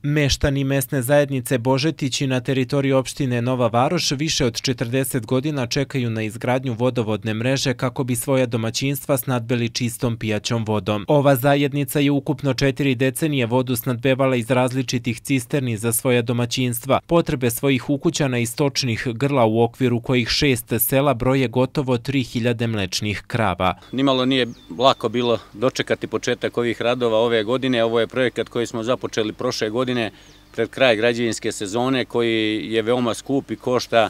Meštani mesne zajednice Božetići na teritoriji opštine Nova Varoš više od 40 godina čekaju na izgradnju vodovodne mreže kako bi svoja domaćinstva snadbeli čistom pijaćom vodom. Ova zajednica je ukupno 4 decenije vodu snadbevala iz različitih cisterni za svoja domaćinstva. Potrebe svojih ukućana i stočnih grla u okviru kojih 6 sela broje gotovo 3000 mlečnih krava. Nimalo nije lako bilo dočekati početak ovih radova ove godine. Ovo je projekat koji smo započeli prošle godine pred kraj građevinske sezone, koji je veoma skup i košta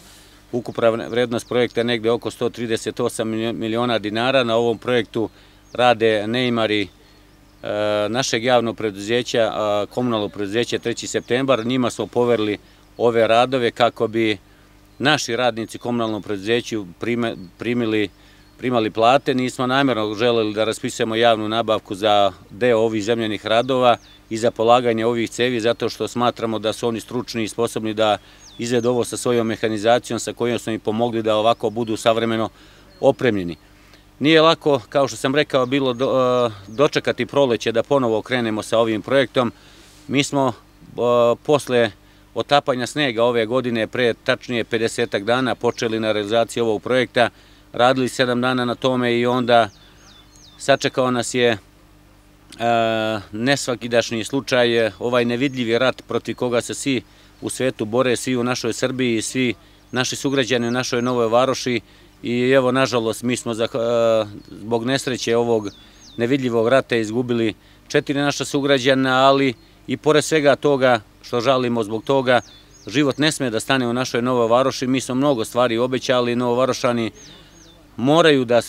ukupna vrednost projekta negde oko 138 miliona dinara. Na ovom projektu rade neimari našeg javnog preduzeća, komunalnog preduzeća 3. septembar. Njima smo poverili ove radove kako bi naši radnici komunalnom preduzeću primali plate. Nismo namjerno želeli da raspisujemo javnu nabavku za deo ovih zemljanih radova i za polaganje ovih cevi, zato što smatramo da su oni stručni i sposobni da izvedu ovo sa svojom mehanizacijom sa kojom smo im pomogli da ovako budu savremeno opremljeni. Nije lako, kao što sam rekao, bilo dočekati proleće da ponovo krenemo sa ovim projektom. Mi smo posle otapanja snega ove godine, pre tačnije 50 dana, počeli na realizaciji ovog projekta, radili 7 dana na tome i onda sačekao nas je nesvakidašnji slučaj, ovaj nevidljivi rat protiv koga se svi u svetu bore, svi u našoj Srbiji, svi naši sugrađani u našoj Novoj Varoši. I evo, nažalost, mi smo zbog nesreće ovog nevidljivog rata izgubili 4 naša sugrađana, ali i pored svega toga što žalimo zbog toga, život ne sme da stane u našoj Novoj Varoši. Mi smo mnogo stvari obećali, Novovarošani moraju da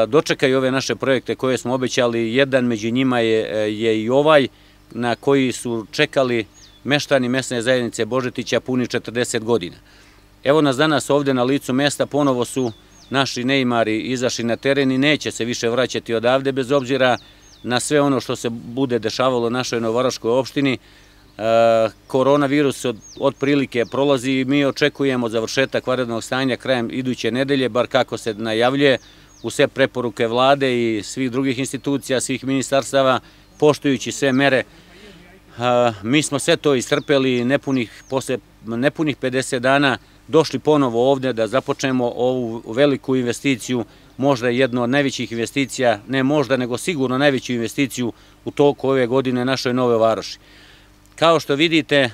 dočekaju ove naše projekte koje smo obećali. Jedan među njima je i ovaj na koji su čekali meštani mesne zajednice Božetića puni 40 godina. Evo nas danas ovde na licu mesta, ponovo su naši neimari izašli na teren i neće se više vraćati odavde bez obzira na sve ono što se bude dešavalo u našoj Novovaroškoj opštini. Koronavirus otprilike prolazi i mi očekujemo završetak vanrednog stanja krajem iduće nedelje, bar kako se najavljuje, u sve preporuke vlade i svih drugih institucija, svih ministarstava, poštujući sve mere. Mi smo sve to istrpeli, posle nepunih 50 dana došli ponovo ovde da započnemo ovu veliku investiciju, možda jednu od najvećih investicija, ne možda, nego sigurno najveću investiciju u toku ove godine našoj Nove Varoši. Kao što vidite,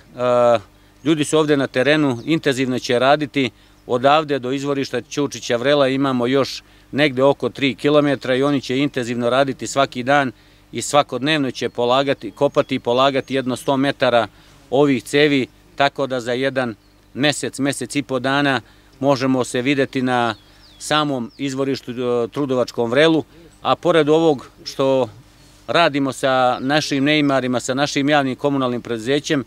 ljudi su ovde na terenu, intenzivno će raditi. Odavde do izvorišta Ćučića Vrela imamo još negde oko 3 km i oni će intenzivno raditi svaki dan i svakodnevno će kopati i polagati jedno 100 metara ovih cevi, tako da za jedan mesec i po dana možemo se videti na samom izvorištu Trudovačkom Vrelu, a pored ovog što radimo sa našim neimarima, sa našim javnim komunalnim preduzećem,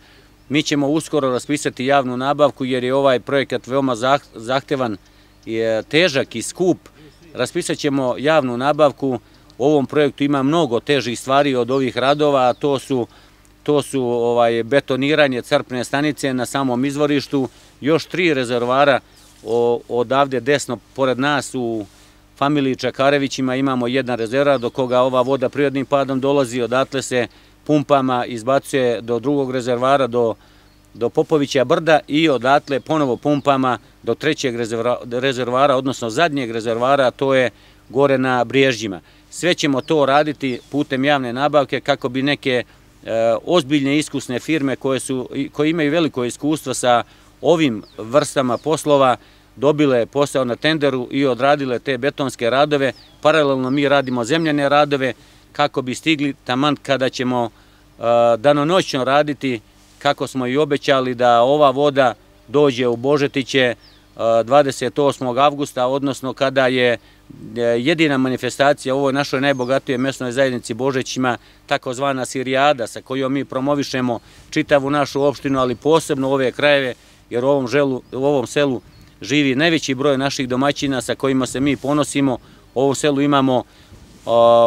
mi ćemo uskoro raspisati javnu nabavku jer je ovaj projekat veoma zahtevan, težak i skup. Raspisat ćemo javnu nabavku. U ovom projektu ima mnogo težih stvari od ovih radova, a to su betoniranje crpne stanice na samom izvorištu, još 3 rezervoara odavde desno pored nas u familiji Čakarevićima imamo jedan rezervoar do koga ova voda prirodnim padom dolazi, odatle se pumpama izbacuje do drugog rezervoara, do Popovića brda i odatle ponovo pumpama do 3. rezervoara, odnosno zadnjeg rezervoara, to je gore na Briježđima. Sve ćemo to raditi putem javne nabavke kako bi neke ozbiljne iskusne firme koje imaju veliko iskustvo sa ovim vrstama poslova dobile posao na tenderu i odradile te betonske radove. Paralelno mi radimo zemljane radove kako bi stigli taman kada ćemo danonoćno raditi, kako smo i obećali, da ova voda dođe u Božetiće 28. avgusta, odnosno kada je jedina manifestacija u ovoj našoj najbogatijoj mesnoj zajednici Božetićima, takozvana Sirijada, sa kojom mi promovišemo čitavu našu opštinu, ali posebno ove krajeve, jer u ovom selu živi najveći broj naših domaćina sa kojima se mi ponosimo. U ovom selu imamo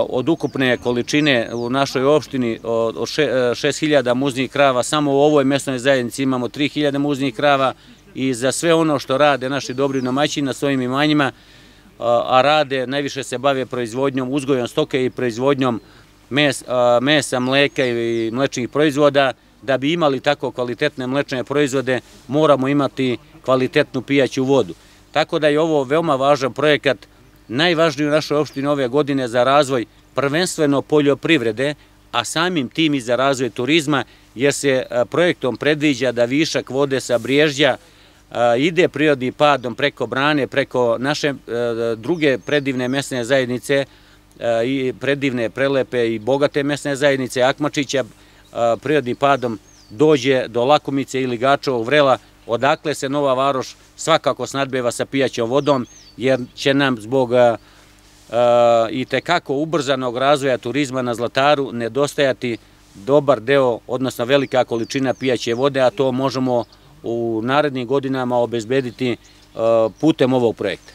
od ukupne količine u našoj opštini od 6000 muznih krava, samo u ovoj mesnoj zajednici imamo 3000 muznih krava i za sve ono što rade naši dobri domaćini na svojim imanjima, a rade, najviše se bave proizvodnjom, uzgojom stoke i proizvodnjom mesa, mleka i mlečnih proizvoda, da bi imali tako kvalitetne mlečne proizvode, moramo imati kvalitetnu pijaću vodu. Tako da je ovo veoma važan projekat, najvažniji u našoj opštini ove godine za razvoj prvenstveno poljoprivrede, a samim tim i za razvoj turizma, jer se projektom predviđa da višak vode sa Briježđa ide prirodnim padom preko Brane, preko naše druge predivne mesne zajednice, i predivne, prelepe i bogate mesne zajednice Akmačića, prirodnim padom dođe do Lakumice ili Gačovog Vrela, odakle se Nova Varoš svakako snadbeva sa pijaćom vodom, jer će nam zbog i tekako ubrzanog razvoja turizma na Zlataru nedostajati dobar deo, odnosno velika količina pijaće vode, a to možemo u narednim godinama obezbediti putem ovog projekta.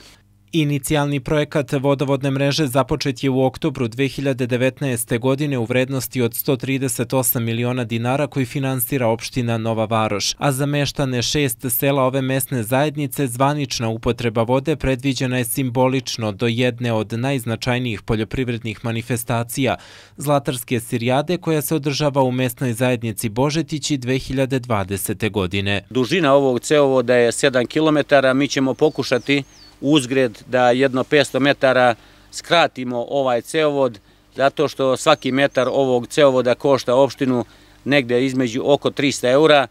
Inicijalni projekat vodovodne mreže započet je u oktobru 2019. godine u vrednosti od 138 miliona dinara koji finansira opština Nova Varoš, a za meštane 6 sela ove mesne zajednice zvanična upotreba vode predviđena je simbolično do jedne od najznačajnijih poljoprivrednih manifestacija Zlatarske sirijade koja se održava u mesnoj zajednici Božetići 2020. godine. Dužina ovog cevovoda je 7 km, mi ćemo pokušati uzgred da jedno 500 metara skratimo ovaj cevovod, zato što svaki metar ovog cevovoda košta opštinu negde između oko 300 eura.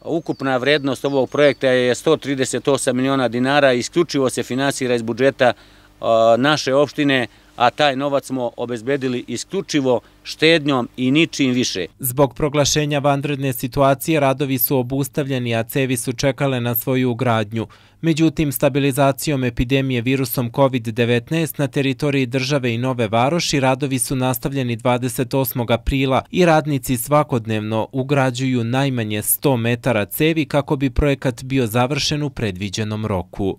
Ukupna vrednost ovog projekta je 138 miliona dinara, isključivo se finansira iz budžeta naše opštine, a taj novac smo obezbedili isključivo štednjom i ničim više. Zbog proglašenja vanredne situacije radovi su obustavljeni, a cevi su čekale na svoju ugradnju. Međutim, stabilizacijom epidemije virusom COVID-19 na teritoriji države i Nove Varoši radovi su nastavljeni 28. aprila i radnici svakodnevno ugrađuju najmanje 100 metara cevi kako bi projekat bio završen u predviđenom roku.